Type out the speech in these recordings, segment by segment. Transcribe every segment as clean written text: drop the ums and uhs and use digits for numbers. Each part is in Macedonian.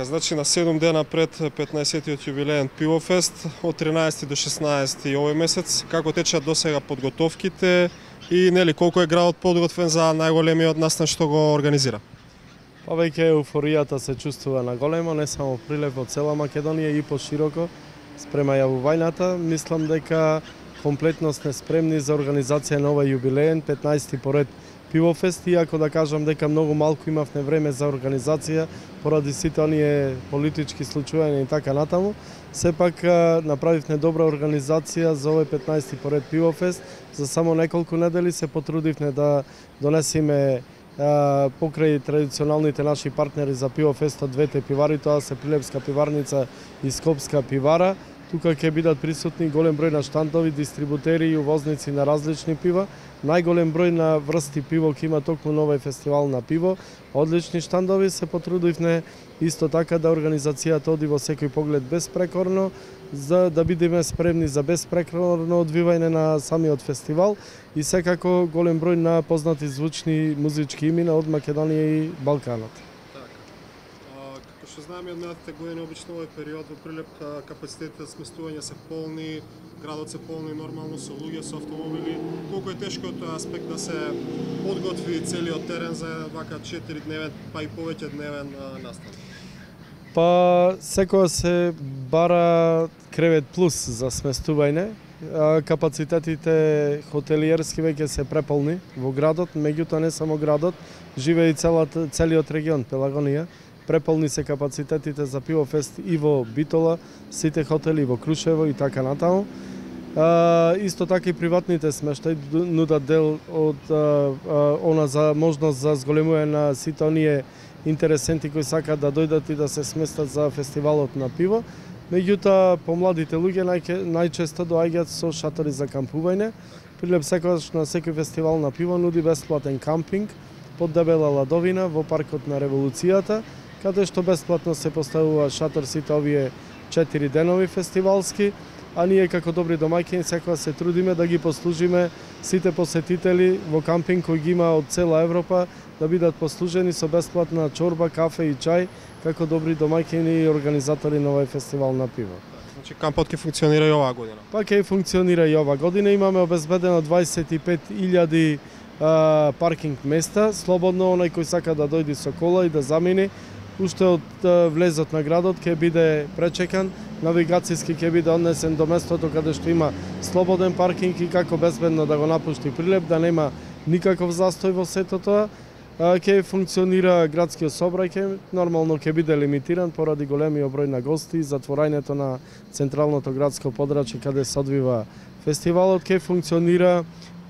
Значи на 7 дена пред 15-тиот јубилеен Пивофест од 13 до 16 овој месец, како течат досега подготовките и нели колку е градот подготвен за најголемиот настан што го организира? Па веќе еуфоријата се чувствува на големо, не само Прилеп, во цела Македонија и пошироко спрема јавувањата. Мислам дека комплетно сме спремни за организација на овој јубилеен 15-ти поред Пивофест, иако да кажам дека многу малку имавме време за организација поради сите оние политички случувања и така натаму. Сепак направивме добра организација за овој 15-ти поред Пивофест. За само неколку недели се потрудивме да донесеме покрај традиционалните наши партнери за Пивофестот двете пивари, тоа се Прилепска пиварница и Скопска пивара. Тука ќе бидат присутни голем број на штандови, дистрибутери и увозници на различни пива. Најголем број на врсти пиво ќе има токму на овој фестивал на пиво. Одлични штандови, се потрудивме исто така да организацијата оди во секој поглед безпрекорно, за да бидеме спремни за безпрекорно одвивање на самиот фестивал и секако голем број на познати звучни музички имена од Македонија и Балканот. Што знаеме од минатите години, обично овој период во Прилеп капацитетите за сместување се полни, градот се полни нормално со луѓе, со автомобили. Колку е тешко тој аспект да се подготви целиот терен за вака 4-дневен, па и повеќе дневен настан? Па секоја се бара кревет плюс за сместување. Капацитетите хотелиерски веќе се преполни во градот, меѓутоа не само градот, живее и целиот регион Пелагонија. Преполни се капацитетите за Пивофест и во Битола, сите хотели во Крушево и така натаму. Исто така и приватните смештаи нудат дел од она за можност за зголемување на сите оние интересенти кои сакаат да дојдат и да се сместат за фестивалот на пиво. Меѓутоа, помладите луѓе најчесто доаѓаат со шатори за кампување. Прилеп секогаш на секој фестивал на пиво нуди бесплатен кампинг под дебела ладовина во паркот на Револуцијата, каде што бесплатно се поставува шатор сите овие 4 денови фестивалски, а ние како добри домаќини секогаш се трудиме да ги послужиме сите посетители во кампинг кој ги има од цела Европа да бидат послужени со бесплатна чорба, кафе и чај како добри домаќини и организатори на овој фестивал на пиво. Значи кампот ќе функционира и оваа година? Па ќе функционира и оваа година. Имаме обезбедено 25.000 паркинг места, слободно оној кој сака да дојде со кола и да замини. Уште од влезот на градот ќе биде пречекан, навигацијски ќе биде однесен до местото каде што има слободен паркинг и како безбедно да го напушти Прилеп, да нема никаков застој во сето тоа. Ќе функционира градскиот сообраќај, нормално ќе биде лимитиран поради големиот број на гости, затворањето на централното градско подрачје каде се одвива фестивалот, ќе функционира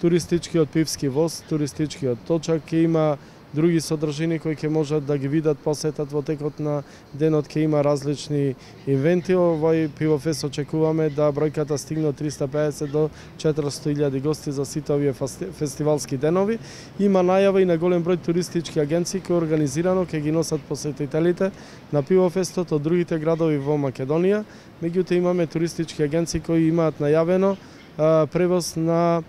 туристичкиот пивски воз, туристичкиот точак, ќе има други содржини кои ќе можат да ги видат, посетат во текот на денот, ќе има различни ивенти. Овој Пивофест очекуваме да бројката стигне од 350 до 400.000 гости за сите овие фестивалски денови. Има најава и на голем број туристички агенции кои организирано ќе ги носат посетителите на Пивофестот од другите градови во Македонија. Меѓутоа имаме туристички агенции кои имаат најавено превоз на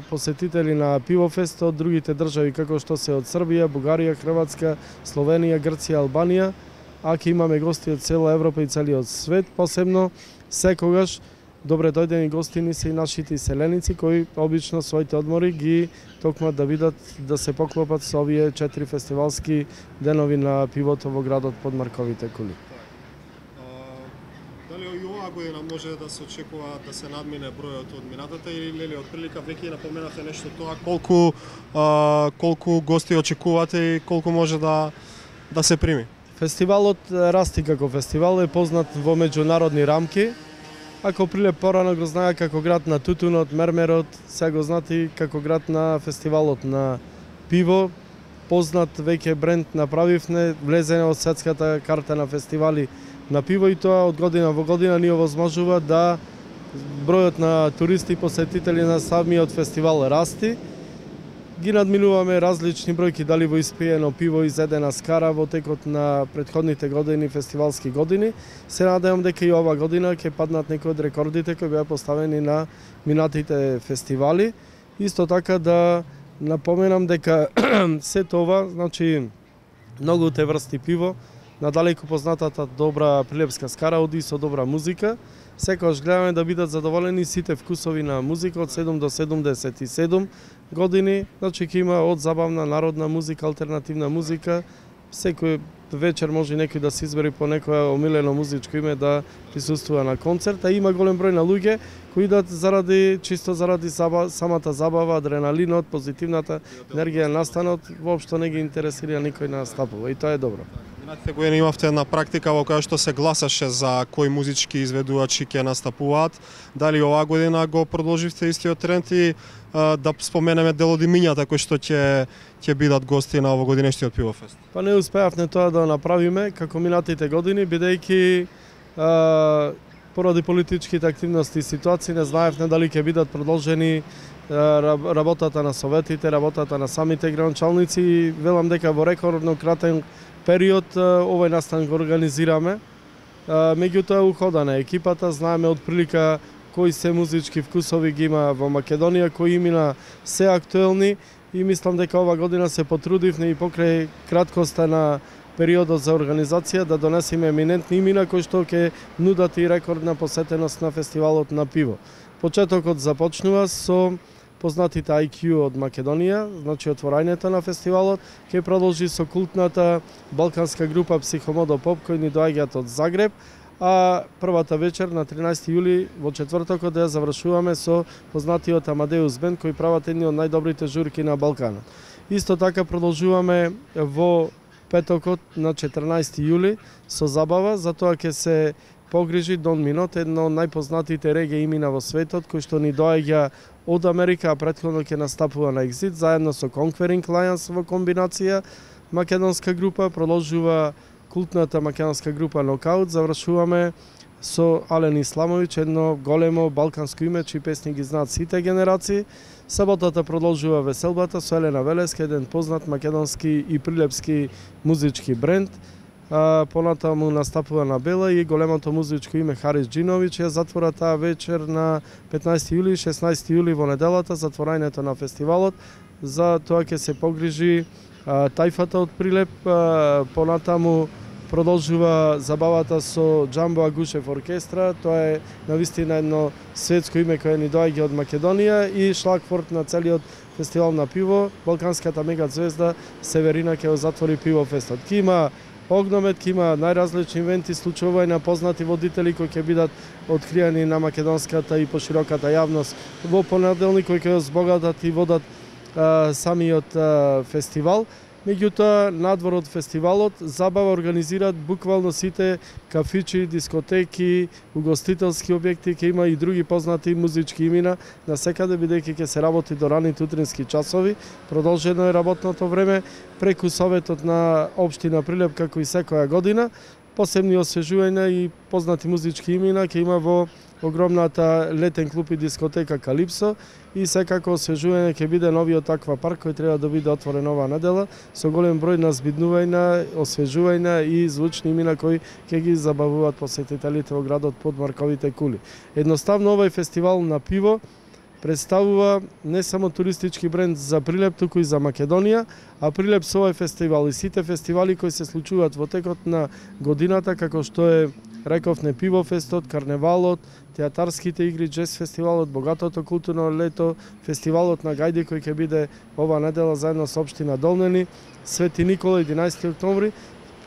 посетители на Пивофест од другите држави како што се од Србија, Бугарија, Хрватска, Словенија, Грција, Албанија, а ќе имаме гости од цела Европа и целиот свет. Посебно секогаш добре дојдени гостини се и нашите иселеници кои обично своите одмори ги токмат да видат да се поклопат со овие 4 фестивалски денови на пивото во градот под Марковите кули. Дали и оваа година може да се очекува да се надмине бројот од минатата или од прилика веќе напоменате нешто тоа колку гости очекувате и колку може да се прими? Фестивалот расти како фестивал, е познат во меѓународни рамки. Ако Прилеп порано го знае како град на тутунот, мермерот, сега го знати како град на фестивалот на пиво. Познат веќе бренд направивме, влезене од светската карта на фестивали на пиво и тоа од година во година ни овозможува да бројот на туристи и посетители на самиот фестивал расти. Ги надминуваме различни бројки, дали во испиено пиво изедена скара во текот на претходните години, фестивалски години. Се надевам дека и ова година ќе паднат некои од рекордите кои беа поставени на минатите фестивали. Исто така да напоменам дека сето ова, значи многуте врсти пиво, надалеку познатата добра прилепска скара оди со добра музика. Секогаш гледаме да бидат задоволени сите вкусови на музика од 7 до 77 години. Значи ќе има од забавна народна музика, алтернативна музика. Секој вечер може некој да се избери по некое омилено музичко име да присуствува на концерт, а има голем број на луѓе кои идат чисто заради самата забава, адреналинот, позитивната енергија, настанот, воопшто не ги интересира никој на настапува и тоа е добро. Минатите години имавте една практика во која што се гласаше за кои музички изведувачи ќе настапуваат. Дали оваа година го продолживте истиот тренд и да споменеме дел од имињата кои што ќе бидат гости на овогодинешниот пивофест? Па не успеавме тоа да направиме како минатите години, бидејќи поради политичките активности и ситуации не знаевме дали ќе бидат продолжени работата на советите, работата на самите градоначалници и велам дека во рекордно кратен период овој настан го организираме. Меѓутоа уходана екипата, знаеме од прилика кои се музички вкусови ги има во Македонија, кои имена се актуелни и мислам дека ова година се потрудивме и покрај краткоста на периодот за организација да донесеме еминентни имена кои што ќе нудат и рекордна посетеност на фестивалот на пиво. Почетокот започнува со познатите IQ од Македонија, значи отворањето на фестивалот, ќе продолжи со култната балканска група Психомодо Поп кои ни доаѓаат од Загреб, а првата вечер на 13 јули во четвртокот да ја завршуваме со познатиот Амадеус Бенд кои прават едни од најдобрите журки на Балканот. Исто така продолжуваме во петокот на 14 јули со забава, затоа ќе се погрижи Дон Минот, едно од најпознатите реге имена во светот, кој што ни доаѓа од Америка, а претходно ќе настапува на Exit, заедно со Conquering Lions во комбинација. Македонска група продолжува култната македонска група Нокаут, завршуваме со Ален Исламовиќ, едно големо балканско име, чии песни ги знаат сите генерации. Саботата продолжува веселбата со Елена Велеска, еден познат македонски и прилепски музички бренд. Понатаму настапува на Бела и големото музичко име Харис Джиновиќ ја затвора таа вечер на 15 јули, 16 јули во неделата затворањето на фестивалот. За тоа ќе се погрижи Тајфата од Прилеп, понатаму продолжува забавата со Джамбо Агушев оркестра, тоа е навистина едно светско име кое ни доаѓа од Македонија и шлагфорд на целиот фестивал на пиво, балканската мега звезда Северина ќе го затвори пивофестот. Ки има огномет, ки има најразлични ивенти, случувања на познати водители кои ќе бидат откриени на македонската и пошироката јавност во понеделник кои ќе збогатат и водат самиот фестивал. Меѓутоа, надвор од фестивалот, забава организираат буквално сите кафичи, дискотеки, угостителски објекти, ќе има и други познати музички имена на секаде, бидејќи ќе се работи до раните утрински часови. Продолжено е работното време преку Советот на Општина Прилеп, како и секоја година. Посебни освежувања и познати музички имена ќе има во огромната летен клуб и дискотека Калипсо и секако освежување ќе биде новиот аквапарк кој треба да биде отворен оваа недела со голем број на збиднувања, освежувања и звучни имена кои ќе ги забавуваат посетителите во градот под марковите кули. Едноставно овој фестивал на пиво представува не само туристички бренд за Прилеп, туку и за Македонија, а Прилеп со овој фестивал и сите фестивали кои се случуваат во текот на годината, како што е рековне пивофестот, карневалот, театарските игри, джез фестивалот, богатото културно лето, фестивалот на гајди кој ќе биде ова недела заедно со општина Долнени, Свети Никола 11 октомври,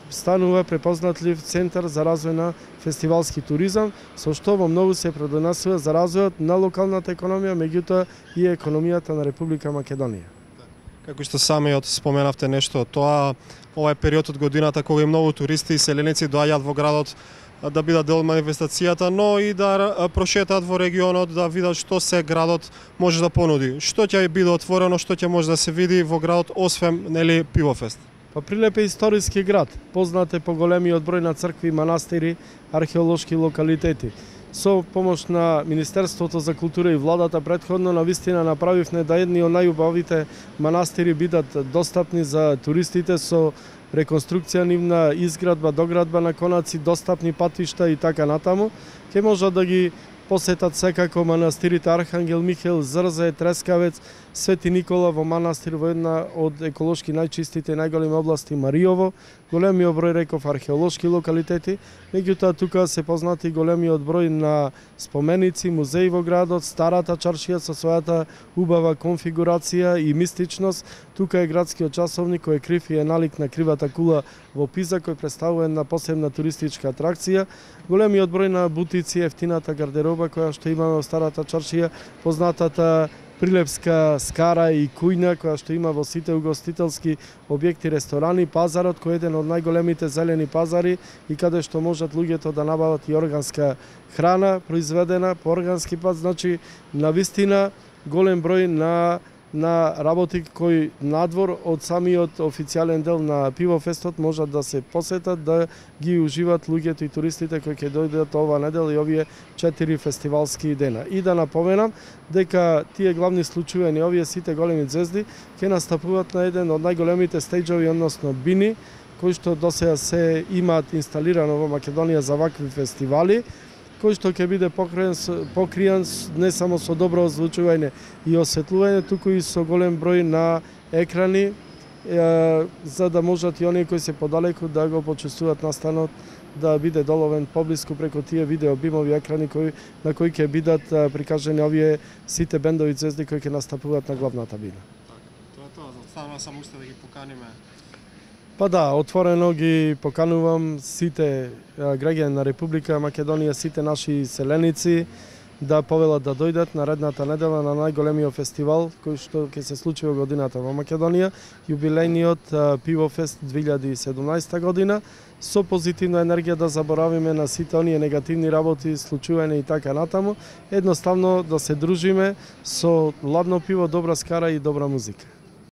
станува препознатлив центар за развој на фестивалски туризам, со што во многу се предонесува за развојот на локалната економија, меѓутоа и економијата на Република Македонија. Како што самиот споменавте нешто од тоа, ова е период од годината кога и многу туристи и селеници доаѓаат во градот да бидат дел од манифестацијата, но и да прошетаат во регионот, да видат што се градот може да понуди. Што ќе биде отворено, што ќе може да се види во градот, освен нели пивофест? Па Прилеп е историски град, познат е по големиот број на цркви, манастири, археолошки локалитети. Со помош на Министерството за култура и владата претходно навистина направивме да едни од најубавите манастири бидат достапни за туристите со реконструкција нивна, изградба, доградба на конаци, достапни патишта и така натаму. Ќе можат да ги посетат секако манастирите Архангел Михаил, Зрзе, Трескавец, Свети Никола во манастир во една од еколошки најчистите и најголеми области Мариово, големиот број реков археолошки локалитети, меѓутоа тука се познати големиот број на споменици, музеи во градот, старата чаршија со својата убава конфигурација и мистичност. Тука е градскиот часовник кој е крив и е налик на кривата кула во Пиза, кој представува една посебна туристичка атракција. Големиот број на бутици, ефтината гардероба која што имаме во старата чаршија, познатата Прилепска скара и кујна која што има во сите угостителски објекти, ресторани, пазарот кој е еден од најголемите зелени пазари и каде што можат луѓето да набават и органска храна произведена по органски пат, значи навистина голем број на работи кои надвор од самиот официјален дел на Пивофестот можат да се посетат, да ги уживат луѓето и туристите кои ќе дојдат ова недела и овие 4 фестивалски дена. И да напоменам дека тие главни случувања, овие сите големи звезди ќе настапуваат на еден од најголемите стејџови, односно бини, кои што досега се имаат инсталирано во Македонија за вакви фестивали, кој што ќе биде покриен не само со добро озвучување и осветлување, туку и со голем број на екрани, за да можат и оние кои се подалеку да го почувствуваат настанот, да биде доловен поблиску преку тие видео бимови екрани на кои ќе бидат прикажани овие сите бендови звезди кои ќе настапуваат на главната бина. Тоа е тоа, затоа само уште да ги поканиме. Па да, отворено ги поканувам сите граѓани на Република Македонија, сите наши селеници да повелат да дојдат наредната недела на најголемиот фестивал кој што ќе се случи во годината во Македонија, јубилејниот Пивофест 2017 година, со позитивна енергија да заборавиме на сите оние негативни работи, случувања и така натаму, едноставно да се дружиме со ладно пиво, добра скара и добра музика.